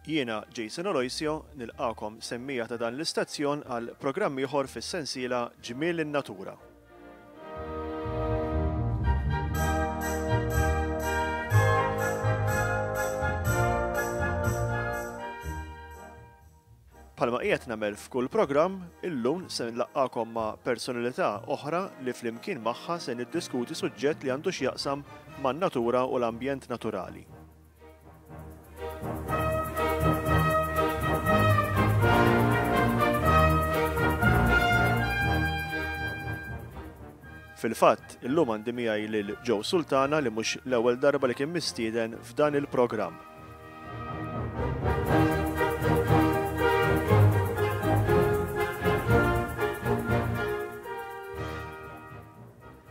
Jiena Jason Aloisio nilqagħkom semmiegħa ta' dan l-istazzjon għal programm ieħor fis-sensiela Ġmiel in-Natura. Bħalma qiegħed nagħmel f'kull programm, illum se nlaqqagħkom ma' personalità oħra li flimkien magħha se niddiskuti suġġett li għandu x'jaqsam man-natura u l-ambjent naturali. Fil-fatt, illum għandi miegħi lil Joe Sultana li mhux l-ewwel darba li kien mistieden f'dan il-programm.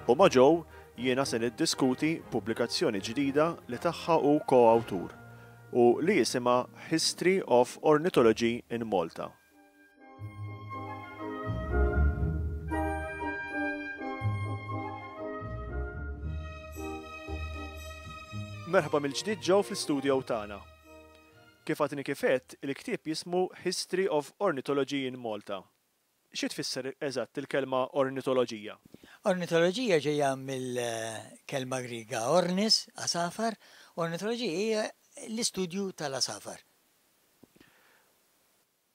U ma' Joe jiena se niddiskuti pubblikazzjoni ġdida li tagħha hu ko-awtur u li jisimha History of Ornithology in Malta. Merħba mill-ġdid Joe fl-istudio tagħna. Kif għadni kif għedt, il-ktieb jismu History of Ornithology in Malta. Xi tfisser eżatt il-kelma ornitoloġija? Ornitoloġija ġejja mill-kelma Griega ornis, għasafar, ornitoloġija hija l-istudju tal-għasafar.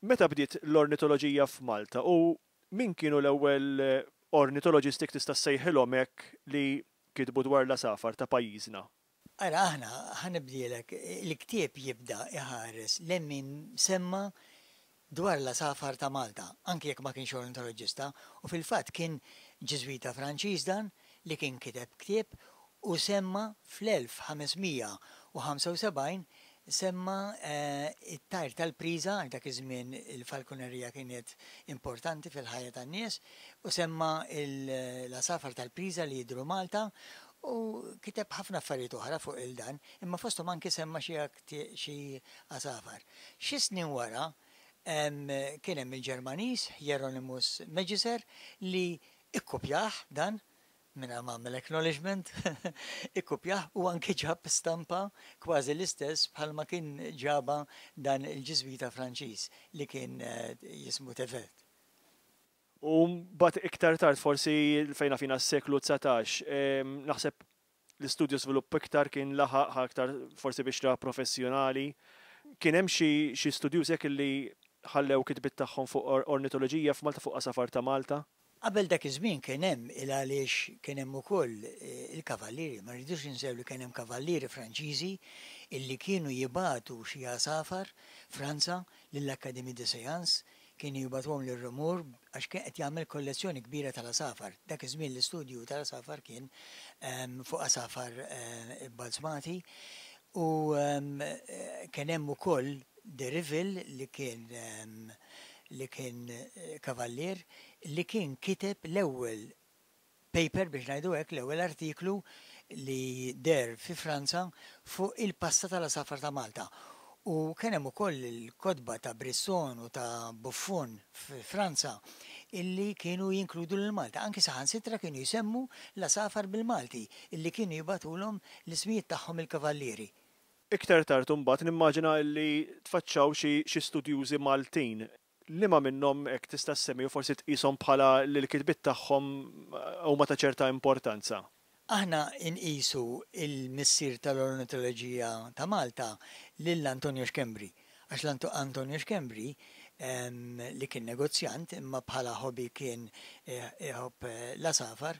Meta bdiet l-ornitoloġija f'Malta u min kienu l-ewwel ornitoloġisti jekk tista' ssejħilhom hekk li kitbu dwar l-għasafar ta' pajjiżna? Ara aħna, ħa nibdielek, il-ktieb jibda iħares lejn min semma dwar l-għasafar ta' Malta, anki jekk ma kienx ornitoloġista, u fil-fatt kien Ġiżwita Franċiż dan li kien kiteb ktieb u semma fl-1575 semma t-tajr tal-priża, għax dak iż-żmien il-falkunerija kienet importanti fil-ħajja tan-nies, u semma l-għasafar tal-priża li jidhru Malta u kiteb ħafna affarijiet oħra fuq il-dan, imma fosthom anki semma xi xi għasafar. Xi snin wara kien hemm il-Ġermaniż Hieronymus Megiser li ikkupjah dan mingħajr ma għamel acknowledgement, ikkupjah u anki ġab stampa kważi l-istess bħalma kien ġabha dan il-Ġiżwita Franċiż li kien jismu Tevet. U mbagħad iktar tard forsi fejn naf jiena s-seklu 19, naħseb l-istudju żvilupp iktar kien laħaq aktar forsi bixra professjonali. Kien hemm xi xi studjużi hekk li ħallew kitbiet tagħhom fuq ornitoloġija f'Malta fuq għasafar ta' Malta? Qabel dak iż-żmien kien hemm il għaliex kien hemm ukoll il-kavallieri, ma rridux ninsew li kien hemm kavallieri Franċiżi illi kienu jibagħtu xi għasafar Franza lill-Académie des Sciences, kienu jibagħtuhom lil Reaumur għax kien qed jagħmel kollezzjoni kbira tal-għasafar. Dak iż-żmien l-istudju tal-għasafar kien fuq għasafar ibbalzmati u kien hemm ukoll De Riville li kien li kien kavallier li kien kiteb l-ewwel paper biex ngħidu hekk, l-ewwel artiklu li deher fi Franza fuq il-pasta tal-għasafar ta' Malta. U kien hemm ukoll il-kotba ta' Brisson u ta' Buffon fi Franza illi kienu jinkludu lil Malta. Anki saħansitra kienu jsemmu l-għasafar bil-Malti illi kienu jibagħtulhom l-ismijiet tagħhom il-kavallieri. Iktar tard imbagħad nimmaġina illi tfaċċaw xi xi studjużi Maltin Liema minnhom hekk tista' ssemmi u forsi tqishom bħala li l-kitbiet tagħhom huma ta' ċerta importanza? Aħna nqisu l-missier tal-ornitoloġija ta' Malta lil Antonio Schembri, għax l Antonio Schembri li kien negozjant imma bħala hobby kien iħobb l-għasafar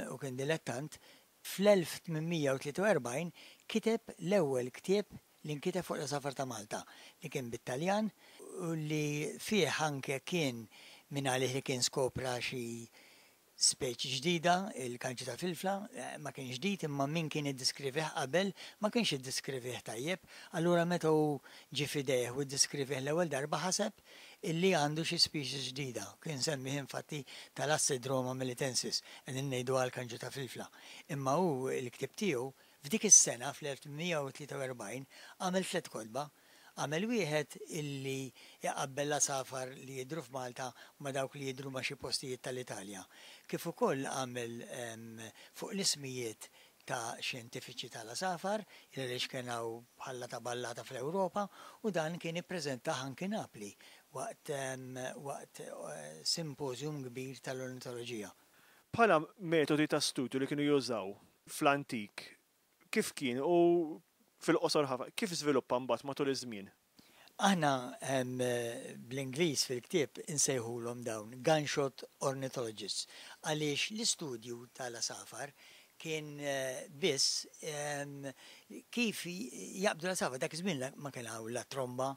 u kien dilettant, fl-1843 kiteb l-ewwel ktieb li nkiteb fuq l-għasafar ta' Malta, li kien bit-Taljan u li fih anke kien mingħalih li kien skopra xi speċi ġdida, il-kanċi tal-filfla, ma kienx ġdid imma min kien iddiskrivih qabel ma kienx iddiskrivih tajjeb, allura meta hu ġie f'idejh u ddiskrivih l-ewwel darba ħaseb illi għandu xi species ġdida, kien semmih infatti Thalassidroma melitensis, qegħdin ngħidu għall-kanċu ta' filfla. Imma hu l-ktieb tiegħu F'dik is-sena, fl-1843, għamel tlett kotba. Għamel wieħed illi jqabbel l-għasafar li jidhru f'Malta ma' dawk li jidhru ma' xi postijiet tal-Italja, kif ukoll għamel fuq l-ismijiet ta'. ta' xjentifiċi tal-għasafar, il għaliex kien hawn bħalla ta' ballata fl-Ewropa u dan kien ippreżentah anki Napli waqt waqt simposium kbir tal-ornitoloġija. Bħala metodi ta' studju li kienu jużaw fl-antik, kif kien u fil-qosor ħafna, kif żviluppa mbagħad matul iż-żmien? Aħna bl-Ingliż fil-ktieb insejħulhom dawn gunshot ornithologists għaliex l-istudju tal-għasafar kien biss kif jaqbdu l-għasafar. Dak iż-żmien ma kien hawn la tromba,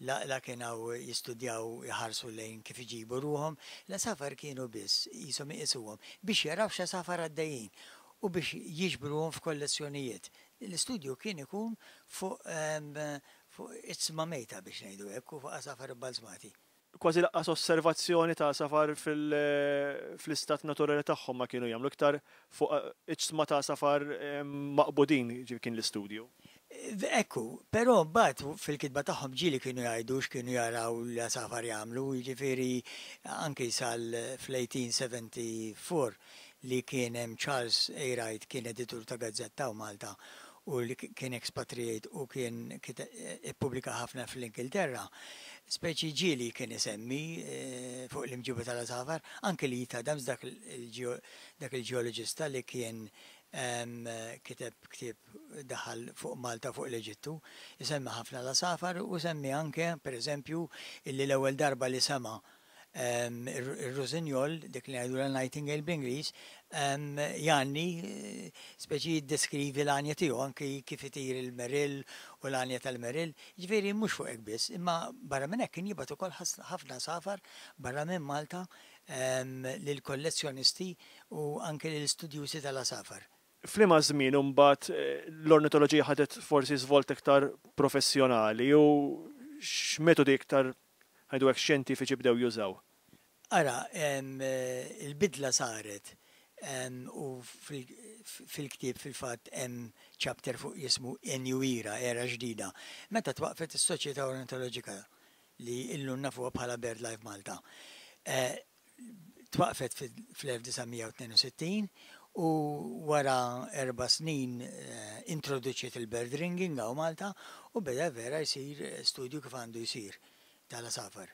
la kien hawn jistudjaw jħarsu lejn kif iġibu ruħhom. L-għasafar kienu biss qishom iqisuhom biex jaraw x'għasafar għaddejjin u biex jiġbruhom f'kollezzjonijiet. L-istudju kien ikun fuq fuq iġsma mejta biex ngħidu hekk u fuq għasafar ibbalzmati. Kważi lanqas osservazzjoni ta' għasafar fl-istat naturali tagħhom ma kienu jagħmlu, iktar fuq iġsma ta' għasafar maqbudin kien l-istudju. Ekku, però mbagħad fil-kitba tagħhom ġieli kienu jgħidu x'kienu jaraw l-għasafar jagħmlu, jiġifieri anki sal fl-1874 li kien hemm Charles A. Wright kien editur ta' gazzetta hawn Malta u li kien expatriate u kien ippubblika ħafna fl-Ingilterra, speċi ġieli kien isemmi fuq l-imġiba tal-għasafar, anke Leith Adams dak il-ġeoloġista li kien kiteb ktieb daħal fuq Malta fuq l-Eġittu, isemmi ħafna l-għasafar u semmi anke, per eżempju, illi l-ewwel darba li sema' ir-rossignol, dik li ngħidulha nightingale bl-Ingliż, jgħanni, speċi jiddeskrivi l-għanja tiegħu, anki kif itir il-merill u l-għanja tal-merill. Jiġifieri mhux fuq hekk biss, imma barra minn hekk kien jibgħat ukoll ħafna għasafar barra minn Malta lill-kollezzjonisti u anke lill-istudjużi tal-għasafar. F'liema żmien imbagħad l-ornitoloġija ħadet forsi żvolta iktar professjonali u x'metodi iktar ngħidu hekk xjentifiċi bdew jużaw? Ara, il-bidla saret u fil-ktieb fil-fatt hemm chapter fuq jismu A New Era, era ġdida, meta twaqfet is-Soċjetà Ornitoloġika li illum nafuha bħala BirdLife Malta. Twaqfet fl-1962 u wara 4 snin introduċiet il-bird ringing hawn Malta u beda vera jsir studju kif għandu jsir tal-għasafar.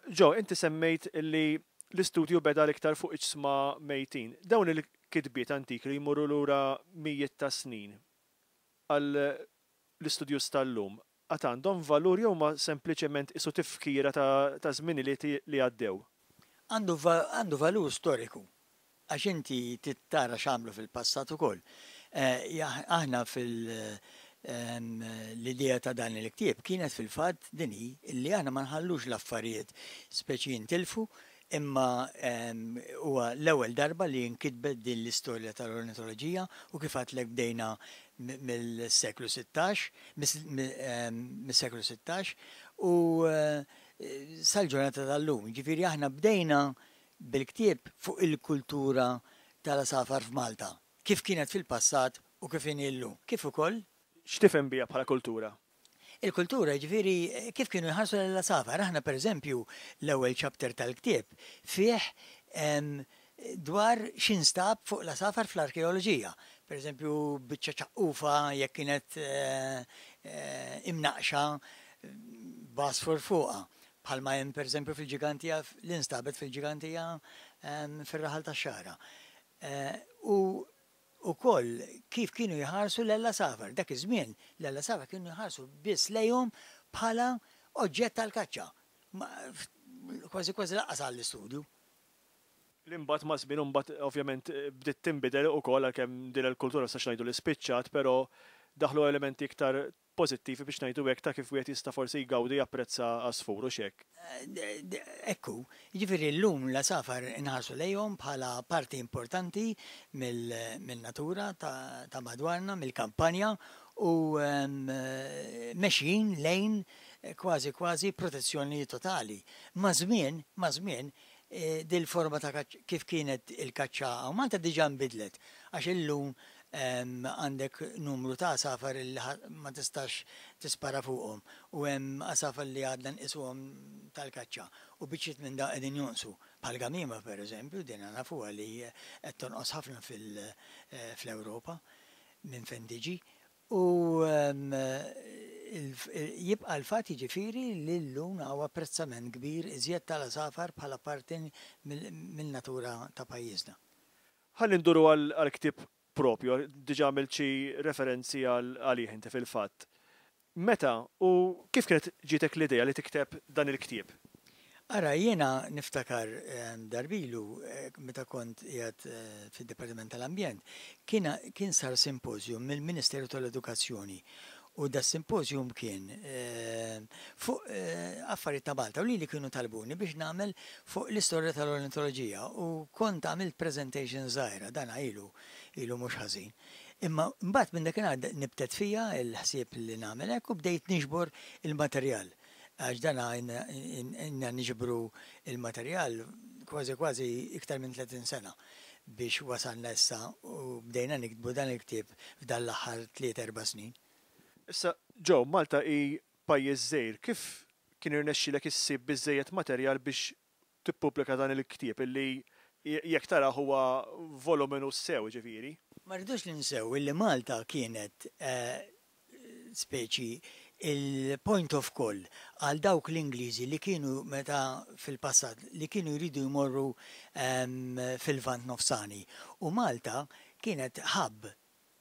Joe, inti semmejt li l-istudju beda l-iktar fuq iġsma mejtin. Dawn il-kitbiet antiki li jmorru lura mijiet ta' snin għal l-istudjus tal-lum, għad għandhom valur jew ma sempliċement isu tifkira ta' żminijiet li għaddew? Għandu valur storiku, għax inti tara x'għamlu fil-passat ukoll. Aħna fil- l-idea ta' dan il-ktieb kienet fil-fatt din hi li aħna ma nħallux l-affarijiet speċi jintilfu, imma huwa l-ewwel darba li nkitbet din l-istorja tal-ornitoloġija u kif għedtlek bdejna mill-seklu 16, mis-seklu 16 u sal-ġurnata tal-lum. Ġifieri aħna bdejna bil-ktieb fuq il-kultura tal-għasafar f'Malta, kif kienet fil-passat u kif inhi llum. Kif ukoll X'tifhem biha bħala kultura? Il-kultura, ġifieri, kif kienu jħarsu l-għasafar. Aħna, per eżempju, l-ewwel chapter tal-ktieb fih dwar x'instab fuq l-għasafar fl-arkeoloġija. Per eżempju, biċċa ċaqqufa jekk kienet imnaqxa b'għasfur fuqha. Bħalma hemm per eżempju fil-Ġigantija, l-instabet fil-Ġigantija fir-raħal tax-Xagħra. U ukoll kif kienu jħarsu l-għasafar. Dak iż-żmien l-għasafar kienu jħarsu biss lejhom bħala oġġett tal-kaċċa. Kważi kważi lanqas għall-istudju. L-imbagħad ma' żmien imbagħad ovvjament bdiet tinbidel ukoll għalkemm din il-kultura sax ngħidu li spiċċat, però daħlu elementi iktar pożittivi biex ngħidu hekk ta' kif wieħed jista' forsi jgawdi japprezza għasfur u xek. Ekku, jiġifieri llum l-għasafar inħarsu lejhom bħala parti importanti mill-natura ta' madwarna, mill-kampanja u mexjin lejn kważi kważi protezzjoni totali. Ma' żmien, ma' żmien, dil-forma ta' kif kienet il-kaċċa hawn Malta diġà nbidlet għax illum għandek numru ta' għasafar li ma tistax tispara fuqhom u hemm għasafar li għadna nqisuhom tal-kaċċa u biċċiet minn da qegħdin jonqsu. Bħal gamima per eżempju, din nafuha li qed tonqos ħafna fl-Ewropa. minn fejn tiġi. U jibqa' l-fatt jiġifieri li llum hawn apprezzament kbir iżjed tal-għasafar bħala parti min-natura ta' pajjiżna. Ħalli nduru għall-ktieb propju, diġà għamilt xi referenzi għalih inti fil-fatt. Meta u kif kienet ġietek l-idea li tikteb dan il-ktieb? Ara, jiena niftakar darbilu meta kont qiegħed fid-Dipartiment tal-Ambjent, kien kien sar simposium mill-Ministeru tal-Edukazzjoni u das-simposium kien fuq affarijiet ta' Malta u lili kienu talbuni biex nagħmel fuq l-istorja tal-ornitoloġija u kont għamilt presentation żgħira, dan ilu ilu mhux ħażin. Imma mbagħad minn dakinhar nibtet fija l-ħsieb li nagħmel hekk u bdejt niġbor il-materjal. Għax dan ilna niġbru l-materjal kważi kważi iktar minn 30 sena biex wasalna issa u bdejna niktbu dan il-ktieb f'dan l-aħħar tliet erba' snin. Issa, Joe, Malta hi pajjiż żgħir, kif kien irnexxielek issib biżżejjed materjal biex tippubblika dan il-ktieb illi jekk tarah huwa voluminus sew, jiġifieri? Ma rridux ninsew illi Malta kienet speċi il-point of call għal dawk l-Ingliżi li kienu meta fil-passat li kienu jridu jmorru fil-Lvant Nofsani u Malta kienet hub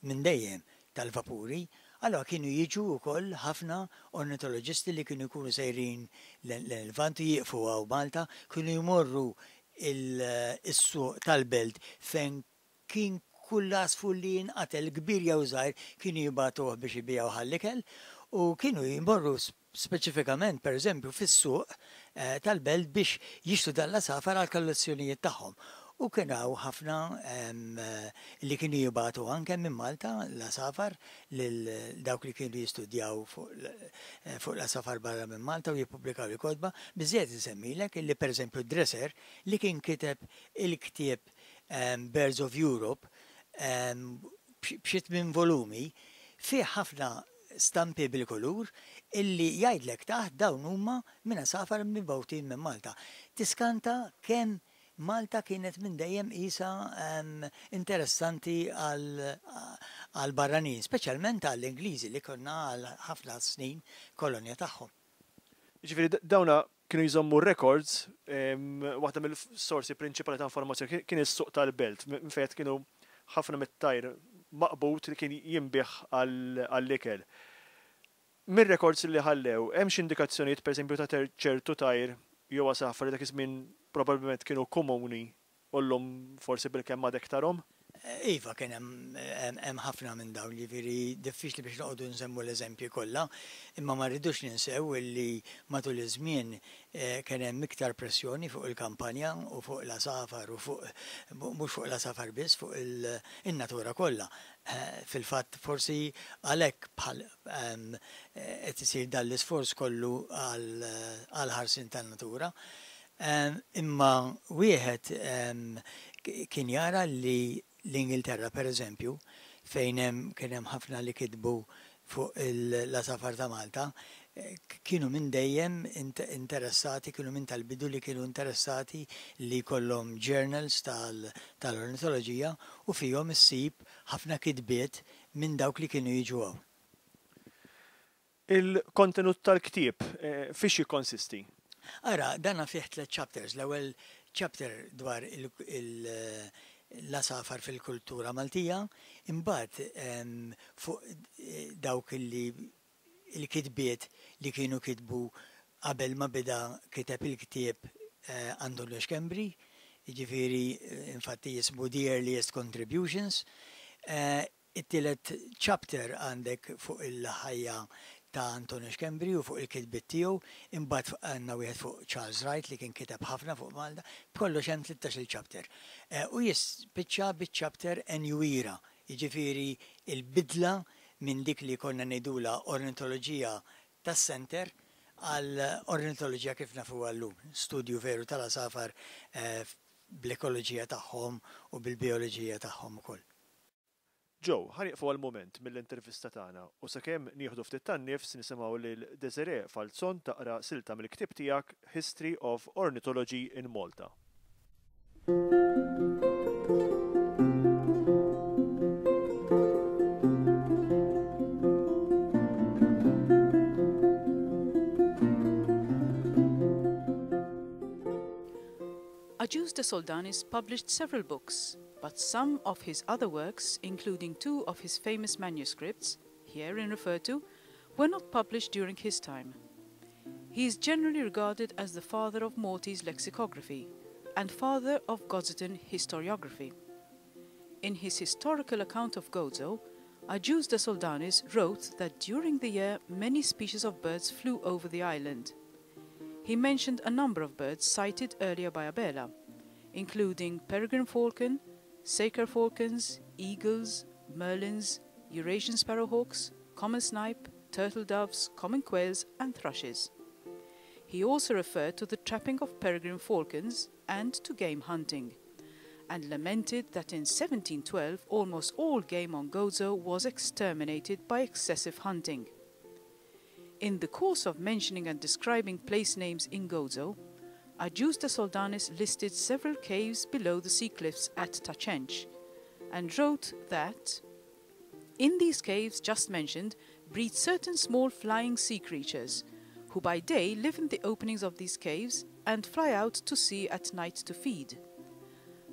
minn dejjem tal-vapuri, allura kienu jiġu wkoll ħafna ornitoloġisti li kienu jkunu sejrin lejn il-Lvant u jieqfu hawn Malta, kienu jmorru s-suq tal-belt fejn kien kull għasfur li jinqatel kbir jew żgħir kienu jibagħtuh biex ibigħuh għall-ikel u kienu jmorru speċifikament pereżempju fis-suq tal-belt biex jixtru dan l-għasafar għall-kollezzjonijiet tagħhom. U kien hawn ħafna li kienu jibagħtu anke minn Malta l-għasafar lil dawk li kienu jistudjaw fuq l-għasafar barra minn Malta u jippubblikaw il-kotba. Biżżejjed insemmilek illi pereżempju Dresser li kien kiteb il-ktieb Birds of Europe b'xi tmien volumi, fih ħafna stampi bil-kulur illi jgħidlek taħt dawn huma minn għasafar mibgħutin minn Malta. Tiskanta kemm Malta kienet minn dejjem qisha interessanti għall-barranin, speċjalment għall-Ingliżi li konna għal ħafna snin kolonja tagħhom. Jiġifieri dawna kienu jżommu r-records, waħda mill-sorsi prinċipali ta' informazzjoni kien is-suq tal-belt, minn fejn kienu ħafna mit-tajr maqbud li kien jinbiegħ għall-ikel. Mir-records li ħallew, hemm xi indikazzjonijiet pereżempju ta' ċertu tajr jew għasafar li dak iż-żmien probabbilment kienu komuni u llum forsi bilkemm għadek tarhom? Iva, kien hemm hemm ħafna minn dawn, jiġifieri diffiċli biex noqogħdu nsemmu l-eżempji kollha, imma ma rridux ninsew illi matul iż-żmien kien hemm iktar pressjoni fuq il-kampanja u fuq l-għasafar u fuq mhux fuq l-għasafar biss, fuq in-natura kollha. Fil-fatt forsi għalhekk bħal qed isir dan l-isforz kollu għall-ħarsien tan-natura. Imma wieħed kien jara li l-Ingilterra, per eżempju, fejn hemm kien hemm ħafna li kitbu fuq l-għasafar ta' Malta, kienu minn dejjem interessati, kienu minn tal-bidu li kienu interessati li jkollhom journals tal-ornitoloġija u fihom issib ħafna kitbiet minn dawk li kienu jiġu hawn. Il-kontenut tal-ktieb fiex jikkonsisti? Ara, dana fih tliet chapters. L-ewwel chapter dwar l-għasafar fil-kultura Maltija, imbagħad fuq dawk li l-kitbiet li kienu kitbu qabel ma beda kiteb il-ktieb Antonio Schembri, jiġifieri infatti jismu The Earliest Contributions. It-tielet chapter għandek fuq il-ħajja ta' Antonio Schembri u fuq il-kitbiet tiegħu, imbagħad għandna wieħed fuq Charles Wright li kien kiteb ħafna fuq Malta, b'kollox hemm tlittax-il chapter. U jispiċċa biċ-chapter A New Era, jiġifieri l-bidla minn dik li konna ngħidulha ornitoloġija tas-center għal ornitoloġija kif nafuha llum, studju veru tal-għasafar bl-ekoloġija tagħhom u bil-bijoloġija tagħhom ukoll. Joe, ħa nieqfu għal mument mill-intervista tagħna u sakemm nieħdu ftit tan-nifs nisimgħu lil Desiree Falzon taqra silta mill-ktieb tiegħek History of Ornithology in Malta. Agius de Soldanis published several books, but some of his other works, including two of his famous manuscripts, herein referred to, were not published during his time. He is generally regarded as the father of Maltese lexicography and father of Gozitan historiography. In his historical account of Gozo, Agius de Soldanis wrote that during the year many species of birds flew over the island. He mentioned a number of birds cited earlier by Abela, including peregrine falcon, saker falcons, eagles, merlins, Eurasian sparrowhawks, common snipe, turtle doves, common quails and thrushes. He also referred to the trapping of peregrine falcons and to game hunting, and lamented that in 1712 almost all game on Gozo was exterminated by excessive hunting. In the course of mentioning and describing place names in Gozo, Agius de Soldanis listed several caves below the sea cliffs at Ta Cenc, and wrote that in these caves just mentioned breed certain small flying sea creatures, who by day live in the openings of these caves and fly out to sea at night to feed.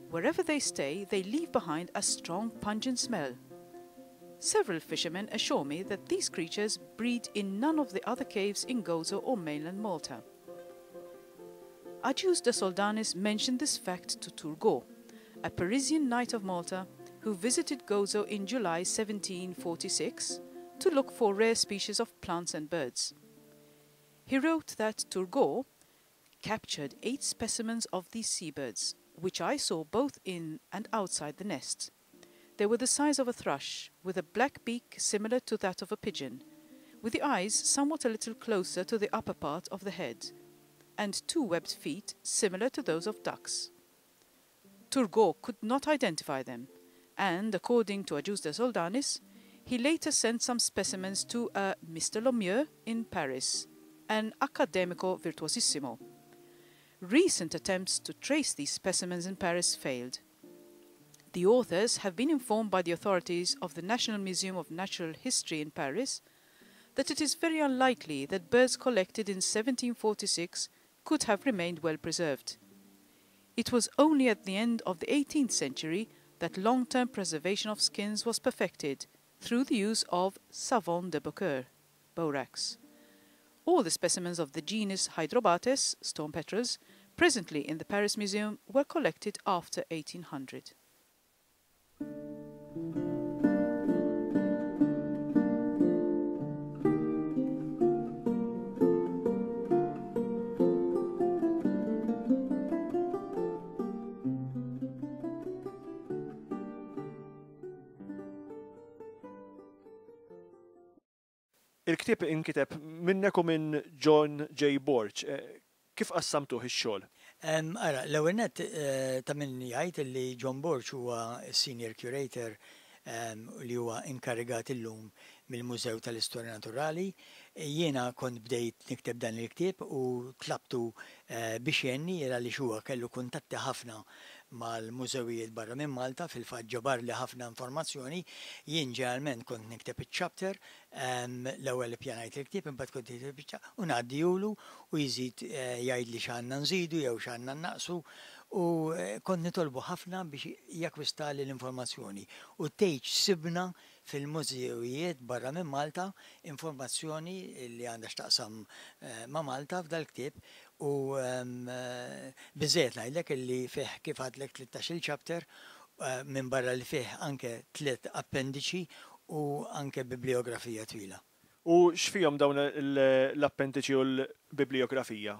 Wherever they stay, they leave behind a strong pungent smell. Several fishermen assure me that these creatures breed in none of the other caves in Gozo or mainland Malta. Agius de Soldanis mentioned this fact to Turgot, a Parisian knight of Malta who visited Gozo in July 1746 to look for rare species of plants and birds. He wrote that Turgot captured 8 specimens of these seabirds, which I saw both in and outside the nest. They were the size of a thrush, with a black beak similar to that of a pigeon, with the eyes somewhat a little closer to the upper part of the head, and 2 webbed feet similar to those of ducks. Turgot could not identify them, and, according to Agius de Soldanis, he later sent some specimens to a Mr. Lemieux in Paris, an academico virtuosissimo. Recent attempts to trace these specimens in Paris failed. The authors have been informed by the authorities of the National Museum of Natural History in Paris that it is very unlikely that birds collected in 1746 could have remained well preserved. It was only at the end of the 18th century that long-term preservation of skins was perfected through the use of savon de Beaucaire, borax. All the specimens of the genus Hydrobates, storm petrels, presently in the Paris Museum were collected after 1800. Il-ktieb inkiteb minnek u minn John J. Borg. Kif qassamtuh ix-xogħol? Ara, l-ewwel nett ta' min jgħid li John Borg huwa senior curator li huwa inkarigat illum mill-Mużew tal-Istorja Naturali. Jiena kont bdejt nikteb dan il-ktieb u tlabtu biex jgħinni għaliex huwa kellu kuntatti ħafna mal-mużewijiet barra minn Malta, fil-fatt ġabarli ħafna informazzjoni. Jien ġeneralment kont nikteb iċ-chapter, l-ewwel ippjanajt il-ktieb, imbagħad kont nikteb iċ-chapter u ngħaddihulu u jżid jgħidli x'għandna nżidu jew x'għandna naqsu, u kont nitolbu ħafna biex jakkwistali l-informazzjoni. U tgħid sibna fil-mużewijiet barra minn Malta informazzjoni li għandha x'taqsam ma' Malta f'dal-ktieb, u biżejjed ngħidlek illi fih kif għadlek 13-il chapter, minn barra li fih anke 3 appendiċi u anke bibliografija twila. U x'fihom dawn l-appendiċi u l-bibliografija?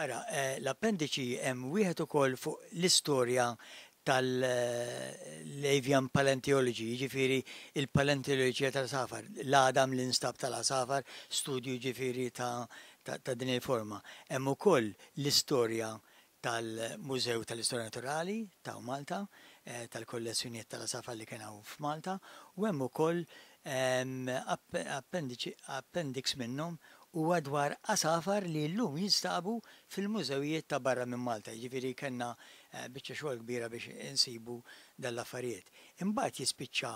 Ara, l-appendiċi hemm wieħed ukoll fuq l-istorja tal-avian paleontology, jiġifieri il-paleontoloġija tal-għasafar, l-għadam li nstab tal-għasafar, studju jiġifieri ta' din il-forma. Hemm ukoll l-istorja tal-Mużew tal-Istorja Naturali ta' Malta, tal-kollezzjonijiet tal-għasafar li kien hawn f'Malta, u hemm ukoll appendix minnhom huwa dwar għasafar li llum jinstabu fil-mużewijiet ta' barra minn Malta, jiġifieri kellna biċċa xogħol kbira biex insibu dal-affarijiet. Imbagħad jispiċċa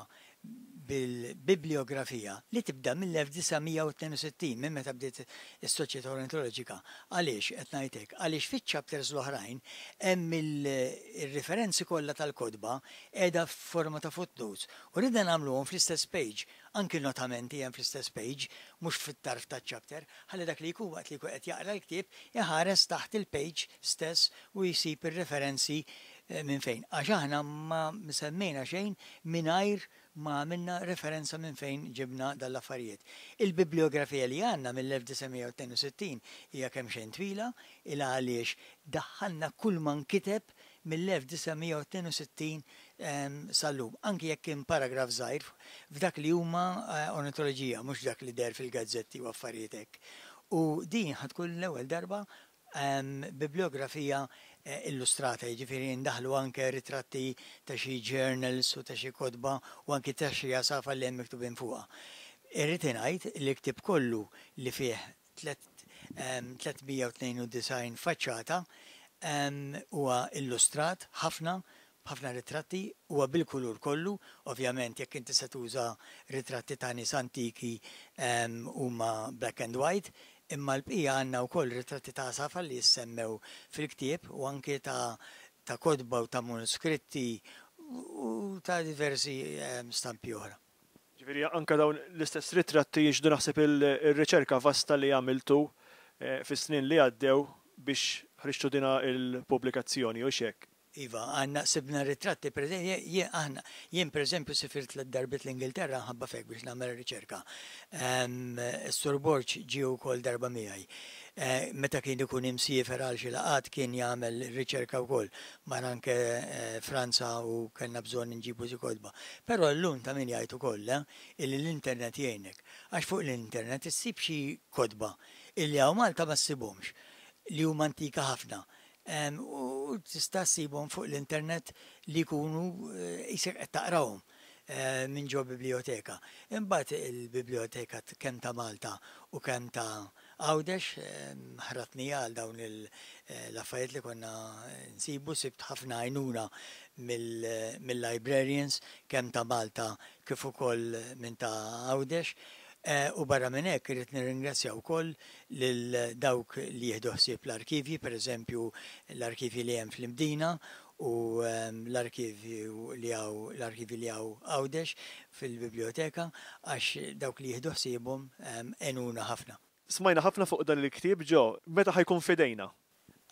Bil-bibliografija li tibda mill-1962, minn meta bdiet is-Soċjetà Ornitoloġika. Għaliex qed ngħid hekk? Għaliex fiċ-chapters l-oħrajn hemm il-riferenzi kollha tal-kotba qiegħda f'forma ta' footnotes u ridna nagħmluhom fl-istess page, anki notamenti hemm fl-istess page, mhux fit-tarf taċ-chapter, ħalli dak li jkun waqt li jkun qed jaqra l-ktieb iħares taħt il-page stess u jsib ir-referenzi minn fejn. Għax aħna ma semmejna xejn mingħajr ma għamilna referenza minn fejn ġibna dan l-affarijiet. Il-bibliografija li għandna mill-1962 hija kemxejn twila, il għaliex daħħalna kull ma nkiteb mill-1962 sal-lum, anki jekk kien paragraf żgħir f'dak li huma ornitoloġija, mhux dak li deher fil-gazzetti u affarijiet hekk. U din ħa tkun l-ewwel darba bibliografija illustrata, jiġifieri ndaħħlu anke ritratti ta' xi journals u ta' xi kotba u anki ta' xi għasafar li hemm miktubin fuqha. Irrid ingħid li l-ktieb kollu li fih 392 faċċata huwa illustrat ħafna b'ħafna ritratti, huwa bil-kulur kollu, ovvjament jekk inti se tuża ritratti ta' nies antiki huma black and white, imma l-bqija għandna wkoll ritratti ta' għasafar li jissemmew fil-ktieb u anke ta' ta' kotba u ta' manuskritti u ta' diversi stampi oħra. Ġifieri anke dawn l-istess ritratti jixhdu naħseb ir-riċerka vasta li għamiltu fis-snin li għaddew biex ħriġtu dina il-pubblikazzjoni, hux hekk? Iva, għandna sibna ritratti, per jien aħna, jien per eżempju sifirt tliet darbiet l-Ingilterra ħabba fek biex nagħmel riċerka. Is-Sur Borg ġie wkoll darba miegħi. Meta kien ikun imsiefer għal xi laqgħat kien jagħmel riċerka wkoll. Mar anke Franza u kellna bżonn inġibu xi kotba. Però llum ta' min jgħid ukoll illi l-internet jgħinek. Għax fuq l-internet issib xi kotba illi hawn Malta ma ssibhomx, li huma antika ħafna. U tista' ssibhom fuq l-internet li jkunu qisek qed taqrahom minn ġo biblioteka. Imbagħad il-biblioteka kemm ta' Malta u kemm ta' Għawdex ħratni għal dawn l-affarijiet li konna nsibu, sibt ħafna għajnuna mill-librarians kemm ta' Malta kif ukoll minn ta' Għawdex. U barra minn hekk irrid nirringrazzja wkoll lil dawk li jieħdu ħsieb l-arkivji, pereżempju l-arkivji li hemm fl-Imdina u l-arkivju li hawn l-arkivji li hawn Għawdex fil-biblioteka għax dawk li jieħdu ħsiebhom għenuna ħafna. Smajna ħafna fuq dan il-ktieb, Joe, meta ħa jkun f'idejna?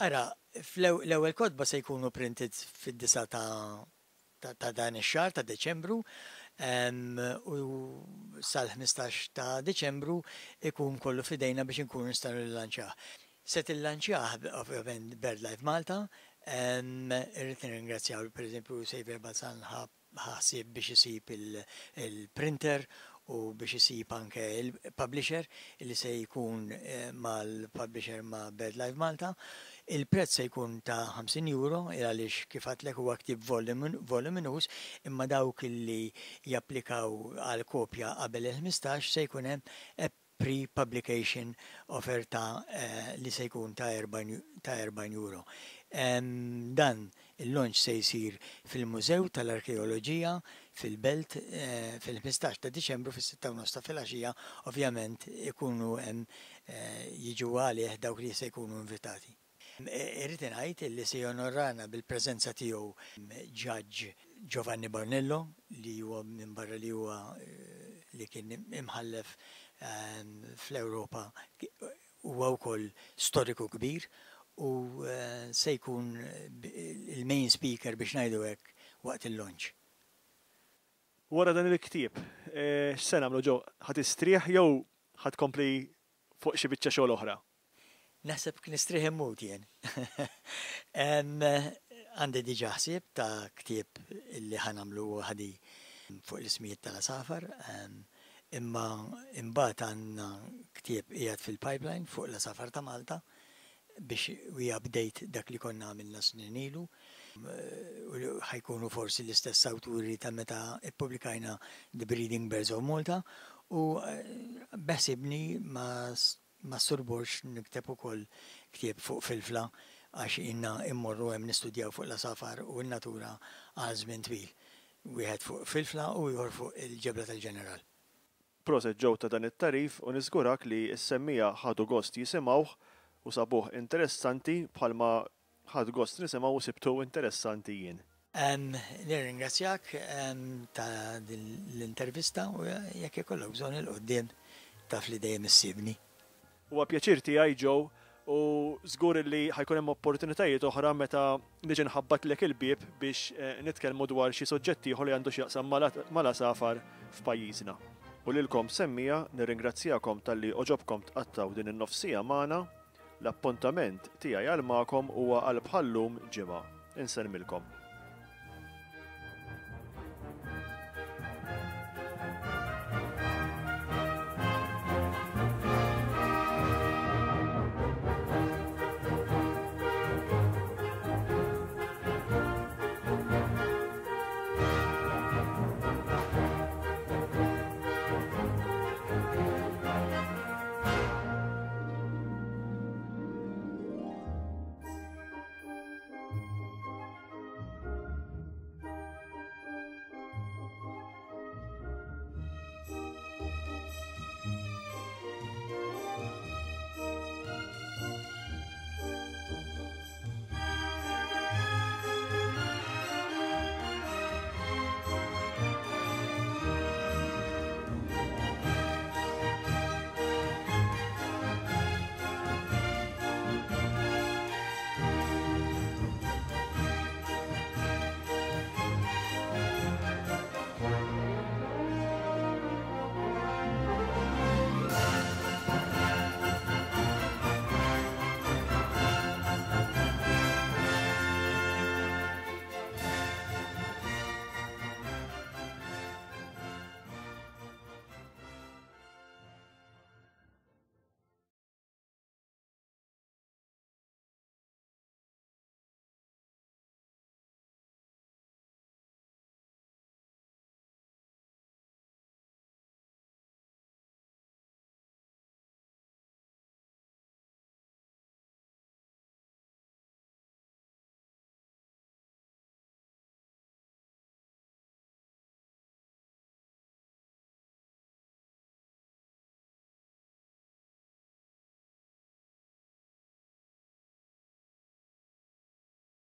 Ara, l-ewwel kotba se jkunu printed fid-9 ta' dan ix-xahar ta' Deċembru u sal-15 ta' Deċembru ikun kollu f'idejna biex inkunu nistgħu nillanċjah. Se tillanċjah ovvjament BirdLife Malta. Irrid nirringrazzjaw pereżempju Xavier Balzan ħa ħsieb biex isib il-printer u biex isib anke il-publisher li se jkun mal-publisher ma' BirdLife Malta. Il-prezz se jkun ta' 50 euro għaliex kif għedtlek huwa ktieb voluminous, imma dawk li japplikaw għal kopja qabel il-15 se jkun hemm pre-publication offer ta' li se jkun ta' 40 euro. Dan il-launch se jsir fil-Mużew tal-Arkeoloġija fil-Belt fil-15 ta' Diċembru fis-6:30 ta' filgħaxija, ovvjament ikunu hemm jiġu għalih dawk li se jkunu invitati. Irrid ngħid li se jonorana bil-preżenza tiegħu Judge Giovanni Barnello li huwa minn barra li huwa li kien imħallef fl-Ewropa, huwa wkoll storiku kbir u se jkun il-main speaker, biex ngħidu hekk, waqt il-launch. Wara dan il-ktieb, x'se nagħmlu, Joe? Ħa tistrieħ jew ħa tkompli fuq xi biċċa xogħol oħra? Naħseb nistrieħ immut jien. Għandi diġà ħsieb ta' ktieb li ħa nagħmlu ħadi fuq l-ismijiet tal-għasafar, imma imbagħad għandna ktieb qiegħed fil-pipeline fuq l-għasafar ta' Malta biex we update dak li konna għamilna snin ilu. U ħa jkunu forsi l-istess awturi ta' meta ippubblikajna The Breeding Birds of Malta u beħsibni ma' Sur Borg nikteb ukoll ktieb fuq Filfla għax ilna immorru hemm nistudjaw fuq l-għasafar u n-natura għal żmien twil. Wieħed fuq Filfla u ieħor fuq il-Ġebla tal-Ġeneral. Proset Joe ta' dan it-tagħrif u niżgurak li s-semmiegħa ħadu gost jisimgħuh u sabuh interessanti bħalma ħadt gost nisimgħu u sibtu interessanti jien. Nirringrazzjak ta' din l-intervista u jekk ikollok bżonn 'il quddiem taf li dejjem issibni. Huwa pjaċir tiegħi Joe u żgur li ħa jkun hemm opportunitajiet oħra meta niġi nħabbatlek il-bieb biex nitkellmu dwar xi soġġett ieħor li għandu x'jaqsam mal-għasafar f'pajjiżna. U lilkom semmiegħa nirringrazzjakom talli għoġobkom tqattgħu din in-nofs siegħa magħna. L-appuntament tiegħi għal magħkom huwa għal bħal-lum ġimgħa. Insellmilkom.